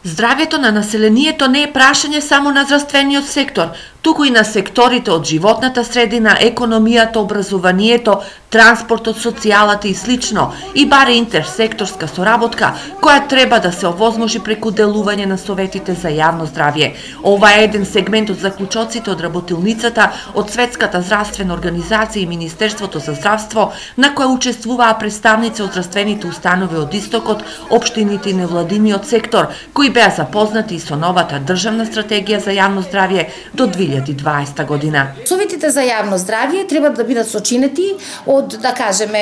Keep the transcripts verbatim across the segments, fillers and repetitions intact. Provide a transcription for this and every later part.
Здравјето на населението не е прашање само на здравствениот сектор, туку и на секторите од животната средина, економијата, образованието, транспортот, социјалата и слично, и баре интерсекторска соработка, која треба да се овозможи преку делување на советите за јавно здравје. Ова е еден сегмент од заклучоците од работилницата од Светската здравствена организација и Министерството за здравство, на која учествуваа представници од здравствените установи од Истокот, општините и невладиниот сектор, кои беа запознати и со новата државна стратегија за јавно здравје до две илјади и дваесета година. Советите за јавно здравје треба да бидат сочинети од, да кажеме,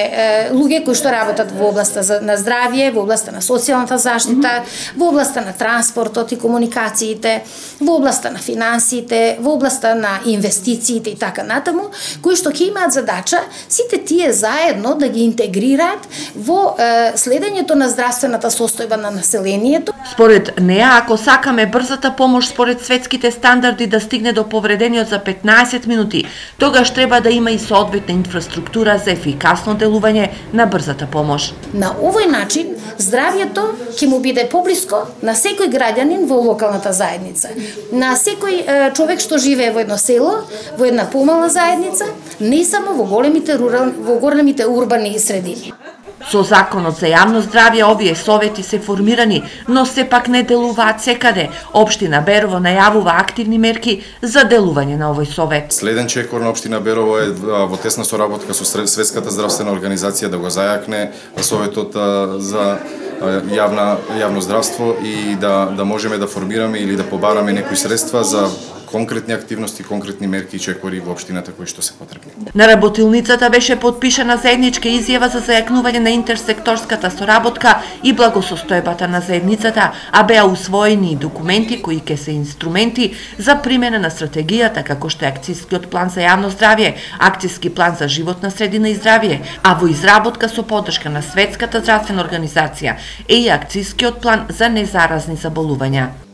луѓе кои што работат во областа на здравје, во областа на социјалната заштита, во областа на транспортот и комуникациите, во областа на финансиите, во областа на инвестициите и така натаму, кои што ќе имаат задача сите тие заедно да ги интегрираат во е, следењето на здравствената состојба на населението. Според неа, ако сакаме брзата помош според светските стандарди да стигне до повредениот за петнаесет минути, тогаш треба да има и соодветна инфраструктура за ефикасно делување на брзата помош. На овој начин, здравјето ќе му биде поблиско на секој граѓанин во локалната заедница, на секој е, човек што живее во едно село, во една помална заедница, не само во големите рурални, во големите урбани средини. Со Законот за јавно здравје овие совети се формирани, но сепак не делуваат секаде. Општина Берово најавува активни мерки за делување на овој совет. Следен чекор на општина Берово е во тесна соработка со Светската здравствена организација да го зајакне советот за јавна јавно здравство и да да можеме да формираме или да побараме некои средства за конкретни активности, конкретни мерки и чекори во општината кои што се потребни. На работилницата беше подпишана заедничка изјава за зајакнување на интерсекторската соработка и благосостојбата на заедницата, а беа усвоени документи кои ќе се инструменти за примена на стратегијата, како што е акцијскиот план за јавно здравје, акцијски план за животна средина и здравје, а во изработка со поддршка на Светската здравствена организација е и акцијскиот план за незаразни заболувања.